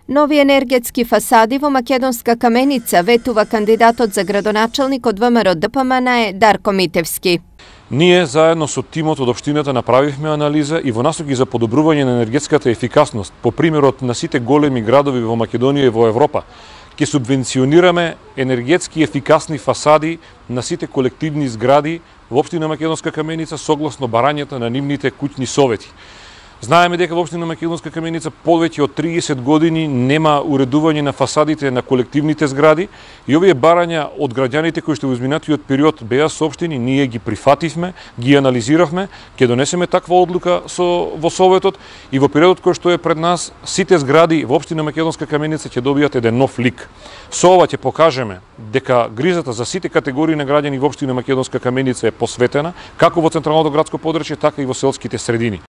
Нови енергетски фасади во Македонска каменица, ветува кандидатот за градоначалник од ВМРО ДПМН е Дарко Митевски. Ние заедно со тимот од општината направивме анализа и во насоки за подобрување на енергетската ефикасност, по примерот на сите големи градови во Македонија и во Европа, ќе субвенционираме енергетски ефикасни фасади на сите колективни згради во општина Македонска каменица согласно барањата на нивните куќни совети. Знаеме дека во општина Македонска каменица повеќе од 30 години нема уредување на фасадите на колективните згради и овие барања од граѓаните кои што во изминатиот период беа соопштени, ние ги прифативме, ги анализиравме, ќе донесеме таква одлука во Советот и во периодот кој што е пред нас, сите згради во општина Македонска каменица ќе добијат еден нов лик. Со ова ќе покажеме дека грижата за сите категории на граѓани во општина Македонска каменица е посветена, како во централното градско подрачје, така и во селските средини.